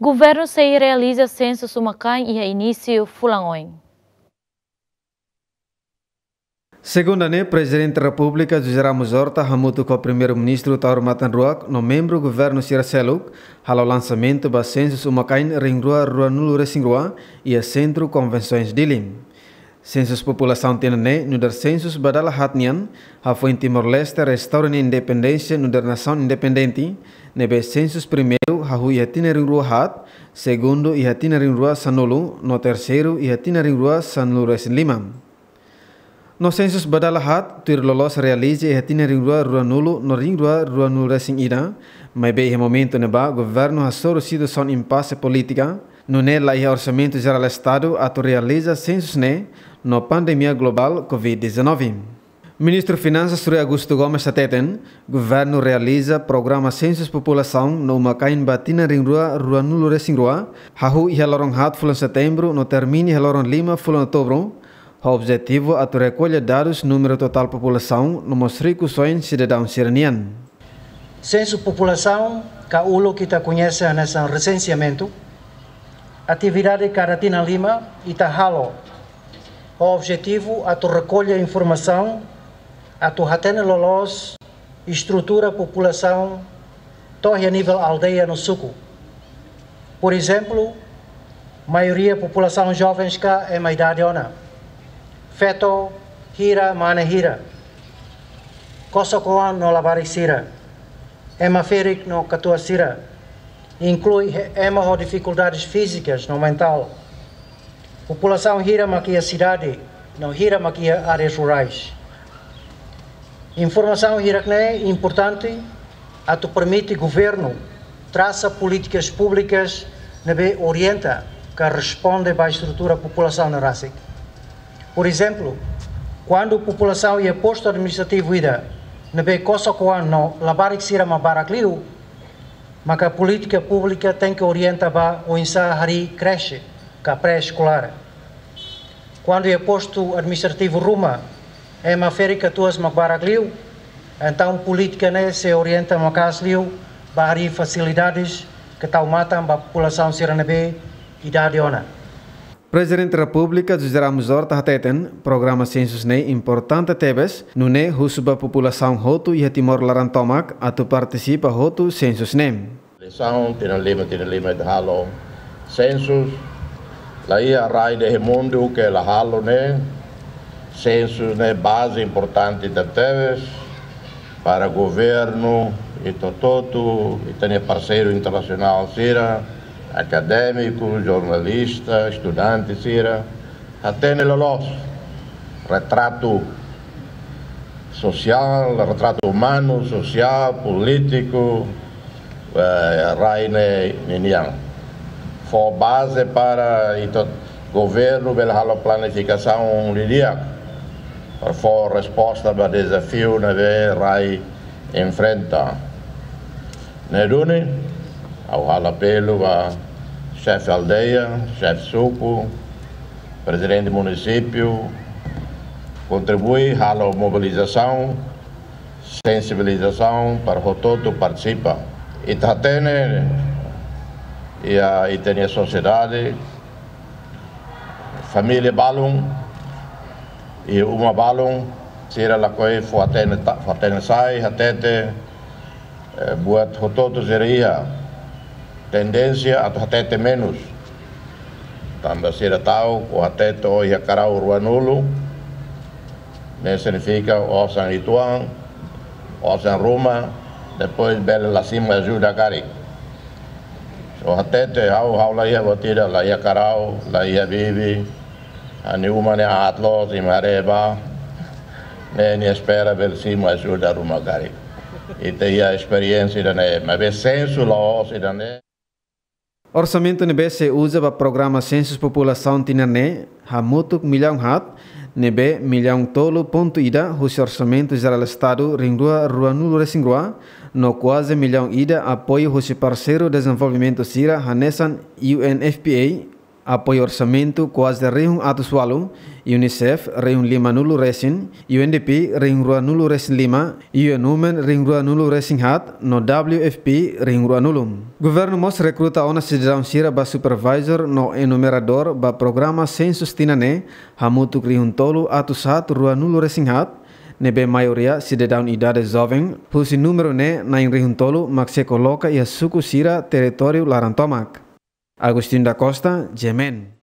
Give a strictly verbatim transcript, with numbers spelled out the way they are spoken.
Governu sei realiza sensus uma-kain iha inísiu fulan oin. Segunda ne'e, Prezidente Repúblika José Ramos Horta hamutuk ho Primeiru-Ministru Taur Matan Ruak no membru governu sira seluk halo lansamentu ba sensus uma-kain rihun rua ruanulu-resin-rua iha Sentru Konvensoens Dili. Sensus populasaun tinan ne'e nu'udar sensus ba dala haat nian, hafoin Timor-Leste restaura nia independénsia nu'udar nasaun independente, ne'ebé sensus primeiru hahú iha tinan rihun rua haat, segundu iha tinan rihun rua sanulu, no terseiru iha tinan rihun rua sanulu-resin-lima. No sensus ba dala haat, tuir loloos realiza iha tinan rihun rua ruanulu no rihun rua ruanulu-resin-ida, maibé iha momentu ne'ebá governu hasoru situasaun impase polítika, nune'e la iha Orsamentu Jerál Estadu atu realiza sensus ne'e, no pandemia globál covid dezanove. Ministru Finansas Rui Augusto Gomes hateten, governu realiza programa sensus populasaun no uma-kain ba tinan rihun rua ruanulu-resin-rua, hahú iha loron haat fulan Setembru no termina iha loron lima fulan Outubru, ho objetivu atu rekolla dadus númeru totál populasaun no mós rikusoin sidadaun sira-nian. Sensu populasaun ka uluk ita koñese hanesan resenseamentu, atividade kada tinan lima ita halo, ho objetivu atu rekolla informasaun, atu hatene loloos estrutura populasaun to'o iha nivel aldeia no suku. Porezemplu, maioria populasaun jovens ka ema idade ona. Feto hira, mane hira. Kosok-oan no labarik sira. Ema ferik no katuas sira. Inklui he-, ema ho difikuldades fízikas no mentál. Populasaun hira mak iha sidade, no hira mak iha áreas rurais. Informasaun hirak-ne'e importante atu permite governu trasa polítikas públikas ne'ebé orienta ka responde ba estrutura populasaun ne'e rasik. Porezemplu, kuandu populasaun iha postu administrativu ida ne'ebé kosok-oan no labarik sira mak barak liu, maka polítika públika tenke orienta ba oinsá harii kreche ka pré-eskolár. Kuandu iha postu administrativu ruma ema ferik katuas mak barak liu, entaun polítika ne'e sei orienta maka'as liu ba harii fasilidades ka tau matan ba populasaun sira ne'ebé idade ona. Prezidente Repúblika José Ramos Horta hateten, programa sensus ne'e importante tebes, nune'e husu ba populasaun hotu iha Timor laran tomak atu partisipa hotu sensus ne'e. Eleisaun, tinan lima, tinan lima ita halo sensus, la iha rai iha mundu ke la halo ne'e. Sensus ne'e baze importante tebetebes para governu, ita hotu-hotu, ita-nia parseiru internasionál sira, akadémiku, jornalista, estudante sira, hatene loloos retratu sosiál, retratu umanu, sosiál, polítiku, eh, rai ne'e ninian. Fó baze para ita governu bele halo planifikasaun didi'ak para fó resposta ba dezafiu ne'ebé rai enfrenta. Ne'e duni, ha'u halo apelu ba xefe aldeia, xefe suku, prezidente munisípiu, kontribui halo mobilizasaun, sensibilizasaun para hotu-hotu partisipa. Ita hatene iha ita-nia sosiedade, família balun i uma balun, sira lakohi fó-hatene ta-, fó-hatene sai, hatete, eh, buat hotu-hotu sira iha tendénsia atu hatete menus. Tanba sira ta'uk, ó hatete ó iha karau ruanulu, ne'e signifika osan uitoan, osan ruma, depois bele la simu ajuda karik. Ó hatete, ha'u, ha'u la iha buat ida, la iha karau, la iha bibi, ha'u-nia uma ne'e aat loos, imi haree bá, ne'e nia espera bele simu ajuda ruma karik. Ita iha esperiénsia ida-ne'e, maibé sensu la'ós ida-ne'e. Orsamentu ne'ebé sei uza ba programa sensus populasaun tinan ne'e hamutuk millaun haat, ne'ebé millaun tolu pontu ida husi Orsamentu Jerál Estadu rihun rua ruanulu-resin-rua, no kuaze millaun ida apoiu husi parseiru dezenvolvimentu sira hanesan U N F P A, apoiu orsamentu kuaze rihun atus ualu, UNICEF rihun lima nulu resin, UNDP rihun rua nulu resin lima, UN Women rihun rua nulu resin haat, no WFP rihun rua nulu. Governu mós rekruta ona sidadaun sira ba supervisor no enumeradór ba programa sensus tinan ne'e, hamutuk rihun tolu atus haat rua nulu resin haat, ne'ebé maioria sidadaun idade joven, husi númeru ne'e na'in rihun tolu mak sei koloka iha suku sira territóriu laran tomak. Agostinho da Costa, GMN.